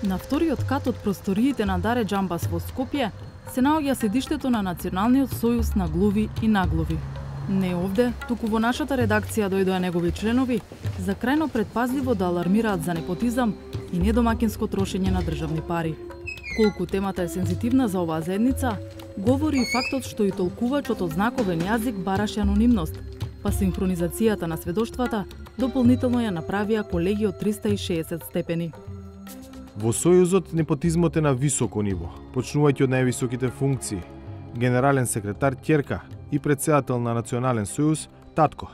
На вториот кат од просториите на Даре Џамбас во Скопје се наоѓа седиштето на Националниот сојуз на глуви и наглуви. Не овде, туку во нашата редакција дојдоа негови членови за крајно предпазливо да алармираат за непотизам и недомакинско трошење на државни пари. Колку темата е сензитивна за оваа заедница, говори и фактот што и толкувачот од знаковен јазик бараше анонимност, па синхронизацијата на сведоштвата дополнително ја направија колеги од 360 степени. Во Сојузот непотизмот е на високо ниво, почнувајќи од највисоките функции. Генерален секретар ќерка и претседател на Национален сојуз татко.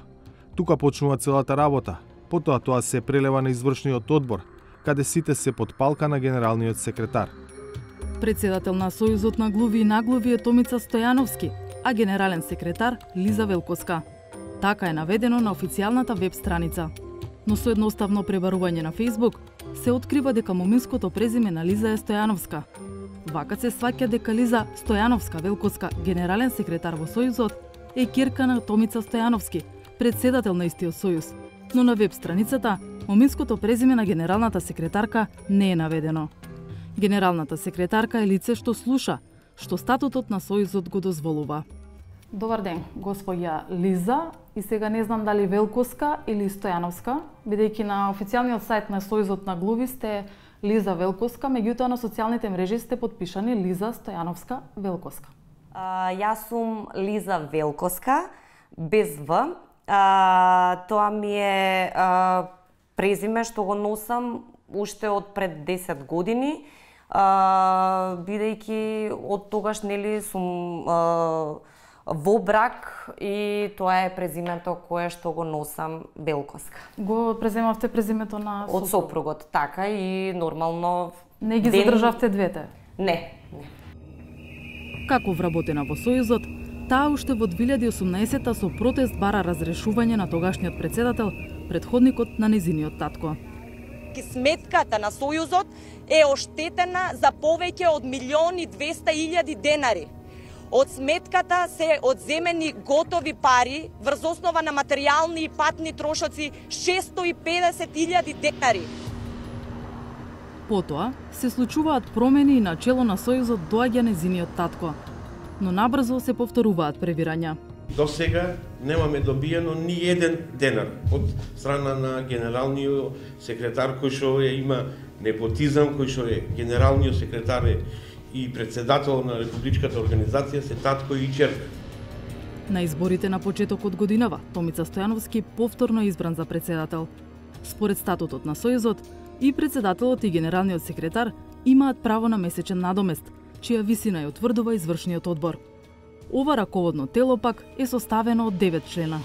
Тука почнува целата работа, потоа тоа се прелева на извршниот одбор, каде сите се под палка на генералниот секретар. Председател на Сојузот на глуви и наглуви е Томица Стојановски, а генерален секретар Лиза Велковска. Така е наведено на официјалната веб страница. Но со едноставно пребарување на Facebook се открива дека моминското презиме на Лиза е Стојановска. Вака се сваќа дека Лиза Стојановска Велковска, генерален секретар во Сојузот, е ќерка на Томица Стојановски, председател на истиот сојуз. Но на веб страницата моминското презиме на генералната секретарка не е наведено. Генералната секретарка е лице што слуша, што статутот на Сојузот го дозволува. Добар ден, господја Лиза, и сега не знам дали Велковска или Стојановска, бидејќи на официјалниот сајт на Сојузот на глуви сте Лиза Велковска, меѓутоа на социјалните мрежи сте подпишани Лиза Стојановска Велковска. Јас сум Лиза Велковска, без В. Тоа ми е презиме што го носам уште од пред 10 години, бидејќи од тогаш нели сум во брак и тоа е презимето кое што го носам Велковска. Го преземавте презимето на од сопругот, така, и нормално не ги задржавте двете? Не. Како вработена во Сојузот, таа уште во 2018 со протест бара разрешување на тогашниот председател, претходникот на незиниот татко. Сметката на Сојузот е оштетена за повеќе од 1.200.000 денари. Од сметката се одземени готови пари врз основа на материјални и патни трошоци 650.000 денари. Потоа се случуваат промени и на чело на Сојузот доаѓа незиниот татко, но набрзо се повторуваат превирања. До сега немаме добиено ни еден денар од страна на генералниот секретар кој што има непотизам, кој што е генералниот секретар и председател на републичката организација се татко и ќерка. На изборите на почеток од годинава, Томица Стојановски повторно избран за председател. Според статутот на Сојузот, и председателот и генералниот секретар имаат право на месечен надомест, чија висина ја утврдува извршниот одбор. Ова раководно тело пак е составено од 9 члена.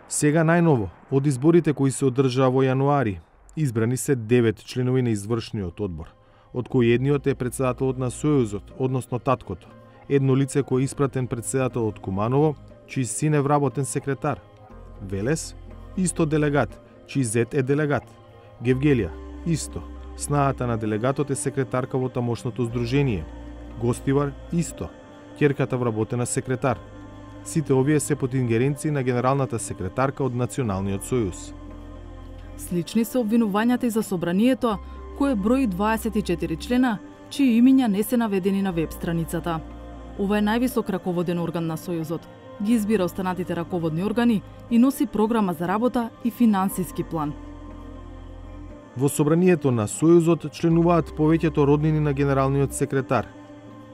Сега најново, од изборите кои се одржаа во јануари, избрани се 9 членови на извршниот одбор, од кои едниот е председателот на Сојузот, односно таткото, едно лице кој е испратен председател од Куманово, чиј син е вработен секретар, Велес, исто делегат, чиј зет е делегат, Гевгелија, исто, снаата на делегатот е секретарка во тамошното здружение, Гостивар, исто, ќерката вработена секретар. Сите овие се под ингеренции на генералната секретарка од Националниот сојуз. Слични се обвинувањата и за собранието, кое брои 24 члена, чии имиња не се наведени на веб страницата. Ова е највисок раководен орган на Сојузот. Ги избира останатите раководни органи и носи програма за работа и финансиски план. Во собранието на Сојузот членуваат повеќето роднини на генералниот секретар.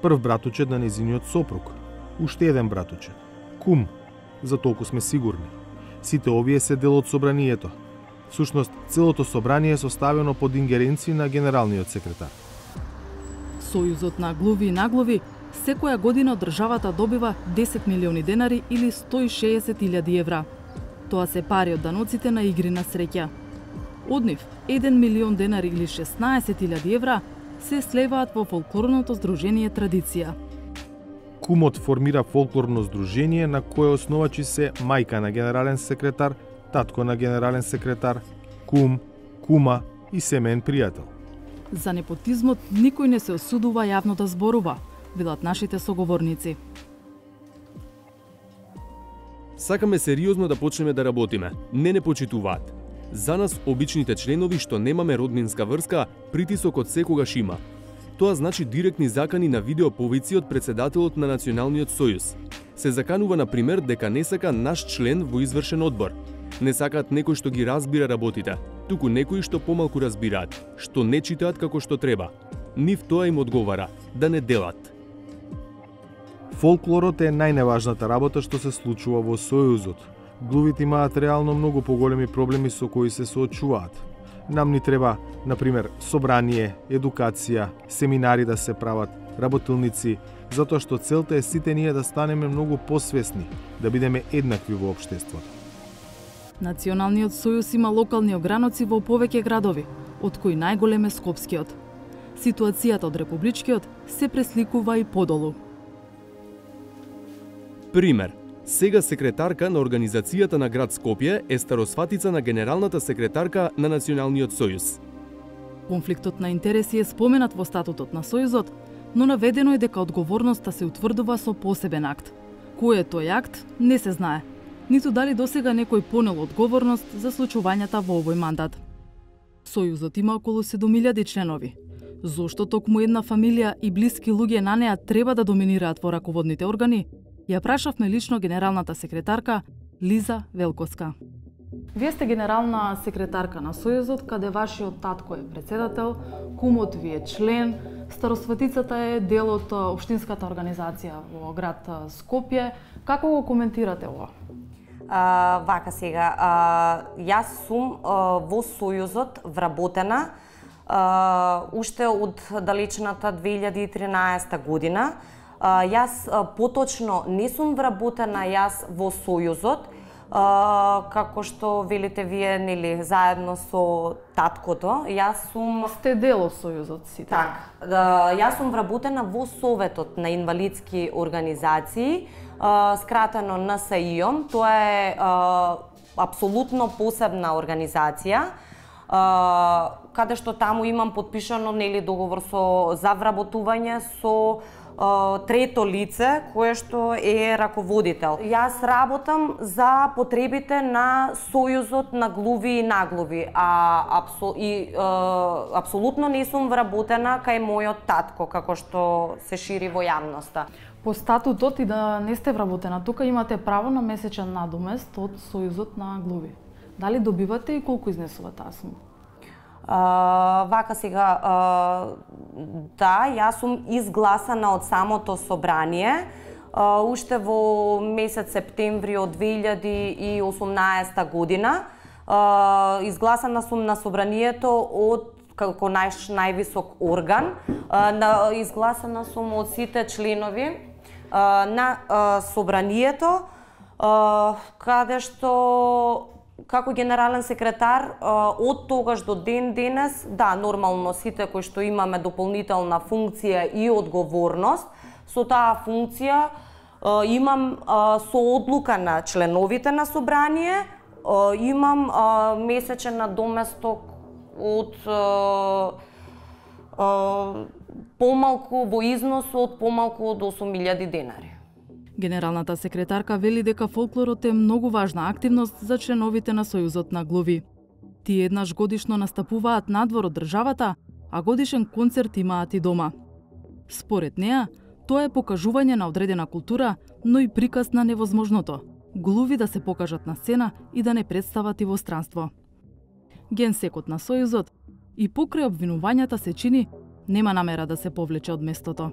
Прв братучет на незиниот сопруг, уште еден братучет, кум, за толку сме сигурни. Сите овие се дел од собранието. Всушност, целото собрание е составено под ингеренции на генералниот секретар. Сојузот на глуви и наглуви секоја година од државата добива 10 милиони денари или 160.000 евра. Тоа се пари од даноците на игри на среќа. Од нив 1 милион денари или 16.000 евра се слеваат во фолклорното здружение Традиција. Кумот формира фолклорно здружение на кое основачи се мајка на генерален секретар, татко на генерален секретар, кум, кума и семеен пријател. За непотизмот никој не се осудува јавно да зборува, велат нашите соговорници. Сакаме сериозно да почнеме да работиме. Не почитуваат. За нас, обичните членови што немаме роднинска врска, притисокот секогаш има. Тоа значи директни закани на видеоповици од председателот на Националниот сојуз. Се заканува, на пример, дека не сака наш член во извршен одбор. Не сакаат некој што ги разбира работите, туку некои што помалку разбираат, што не читаат како што треба. Нив тоа им одговара, да не делат. Фолклорот е најневажната работа што се случува во Сојузот. Глувите имаат реално многу поголеми проблеми со кои се соочуваат. Нам ни треба, на пример, собрание, едукација, семинари да се прават, работилници, затоа што целта е сите ние да станеме многу посвесни, да бидеме еднакви во општеството. Националниот сојуз има локални ограноци во повеќе градови, од кои најголем е Скопскиот. Ситуацијата од републичкиот се пресликува и подолу. Пример. Сега секретарка на организацијата на град Скопје е старосватица на генералната секретарка на Националниот сојуз. Конфликтот на интереси е споменат во статутот на Сојузот, но наведено е дека одговорноста се утврдува со посебен акт. Кој е тој акт, не се знае. Ниту дали досега некој понел одговорност за случувањата во овој мандат. Сојузот има околу 7000 членови. Зошто токму една фамилија и блиски луѓе на неа треба да доминираат во раководните органи? Ја прашавме лично генералната секретарка Лиза Велкоска. Вие сте генерална секретарка на Сојузот, каде вашиот татко е председател, кумот ви е член, старосватицата е дел од општинската организација во град Скопје. Како го коментирате ова? Вака сега, јас сум во Сојузот вработена уште од далечната 2013 година. Јас поточно не сум вработена јас во Сојузот, како што велите вие, нели, заедно со таткото. Јас сум... Сте дел од Сојузот сите. Така. Јас сум вработена во Советот на инвалидски организации, скратено НСИ-ом. Тоа е апсолутно посебна организација, каде што таму имам подпишано, нели, договор за вработување со трето лице кое што е раководител. Јас работам за потребите на Сојузот на глуви и наглуви, апсолутно не сум вработена кај мојот татко, како што се шири во јавноста. По статутот и да не сте вработена тука, имате право на месечен надомест од Сојузот на глуви. Дали добивате и колку изнесува таа сума? Вака сега, да, јас сум изгласана од самото собрание уште во месец септември од 2018 година. Изгласана сум на собранието од како највисок орган. Изгласана сум од сите членови на собранието, каде што како генерален секретар од тогаш до ден денес, да, нормално сите кои што имаме дополнителна функција и одговорност, со таа функција имам со одлука на членовите на собрание, имам месечен надоместок од помалку во износ од помалку од 8000 денари. Генералната секретарка вели дека фолклорот е многу важна активност за членовите на Сојузот на глуви. Тие еднаш годишно настапуваат надвор од државата, а годишен концерт имаат и дома. Според неа, тоа е покажување на одредена култура, но и приказ на невозможното – глуви да се покажат на сцена и да не представат и во странство. Генсекот на Сојузот и покрај обвинувањата се чини нема намера да се повлече од местото.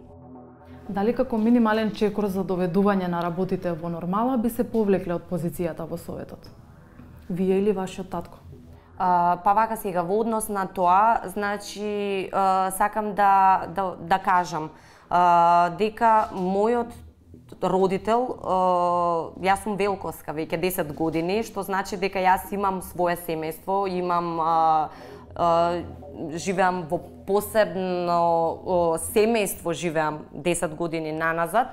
Дали како минимален чекор за доведување на работите во нормала би се повлекле од позицијата во Советот? Вие или вашиот татко? Па вака сега, во однос на тоа, значи, сакам да кажам дека мојот родител, јас сум Велкоска веќе 10 години, што значи дека јас имам свое семејство, живеам во посебно семејство, живеам 10 години наназад.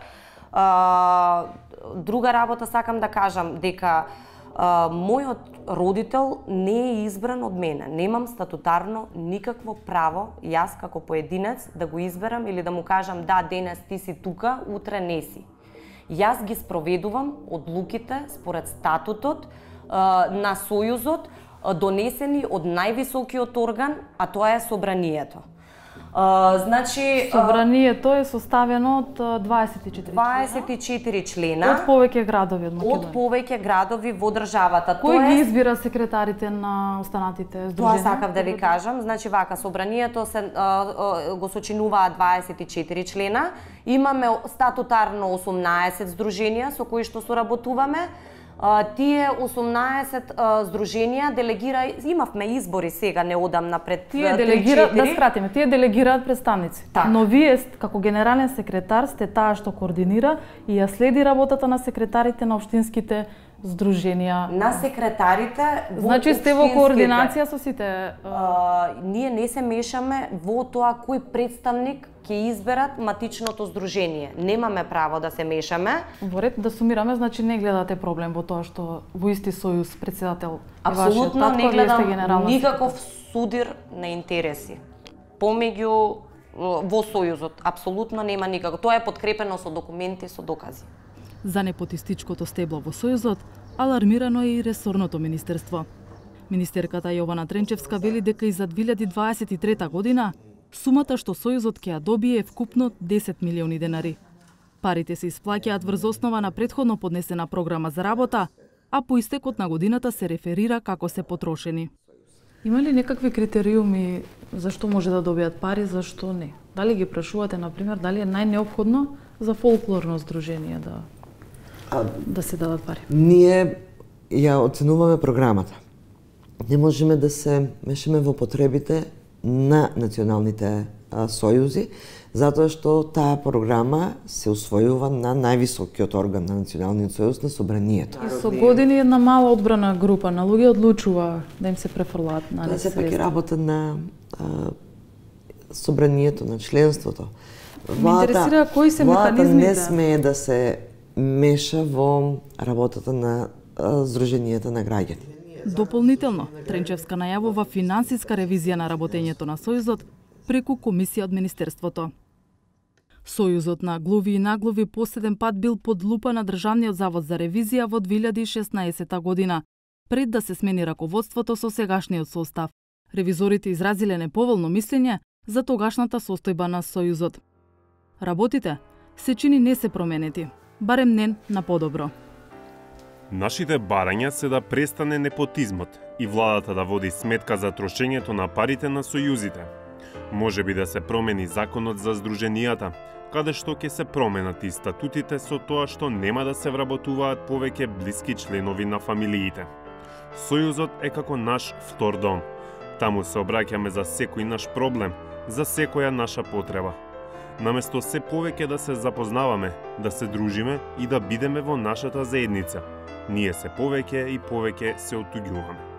Друга работа сакам да кажам дека мојот родител не е избран од мене. Немам статутарно никакво право јас како поединец да го изберам или да му кажам да, денес ти си тука, утре не си. Јас ги спроведувам одлуките според статутот на Сојузот, донесени од највисокиот орган, а тоа е собранието. Значи собранието е составено од 24 члена од повеќе градови од Македонија. Од повеќе градови во државата. Кој ги избира секретарите на останатите здруженија? Тоа сакав да ви кажам. Значи вака, собранието се го сочинуваат 24 члена. Имаме статутарно 18 здруженија со кои што соработуваме. Тие 18 здруженија имавме избори сега неодамна пред 3-4. Тие делегираат, да скратиме, тие делегираат представници. Так. Но вие како генерален секретар сте таа што координира и ја следи работата на секретарите на општинските здруженија. На секретарите Значи сте во координација со сите. Ние не се мешаме во тоа кој представник ќе изберат матичното здружение. Немаме право да се мешаме. Во ред да сумираме, значи не гледате проблем во тоа што во исти сојуз председател Апсолутно не гледам никаков секретар. судир на интереси помеѓу во сојузот. Апсолутно нема никако. Тоа е подкрепено со документи, со докази. За непотистичкото стебло во сојузот алармирано е и ресорното министерство. Министерката Јована Тренчевска вели дека и за 2023 година сумата што сојузот ќе ја добие е вкупно 10 милиони денари. Парите се исплаќаат врз основа на претходно поднесена програма за работа, а по истекот на годината се реферира како се потрошени. Има ли некакви критериуми за што може да добијат пари, за што не? Дали ги прашувате, например, дали е најнеопходно за фолклорно здружение да се дадат пари? Ние ја оценуваме програмата. Не можеме да се мешаме во потребите на националните сојузи, затоа што таа програма се усвојува на највисокиот орган на Националниот сојуз, на собранието. И со години една мала одбрана група на луѓе одлучува да им се префрлаат на тоа сепак е работа на собранието, на членството. Ме интересира кои се механизмите. Не смее да се меша во работата на здруженијата на граѓани. Дополнително, Тренчевска најавува финансиска ревизија на работењето на Сојузот преку комисија од Министерството. Сојузот на глуви и наглуви последен пат бил под лупа на Државниот завод за ревизија во 2016 година, пред да се смени раководството со сегашниот состав. Ревизорите изразиле неповолно мислење за тогашната состојба на Сојузот. Работите се чини не се променети, барем не на подобро. Нашите барања се да престане непотизмот и владата да води сметка за трошењето на парите на сојузите. Може би да се промени законот за здруженијата, каде што ќе се променат и статутите со тоа што нема да се вработуваат повеќе блиски членови на фамилиите. Сојузот е како наш втор дом. Таму се обраќаме за секој наш проблем, за секоја наша потреба. Наместо се повеќе да се запознаваме, да се дружиме и да бидеме во нашата заедница, ние се повеќе и повеќе се отуѓуваме.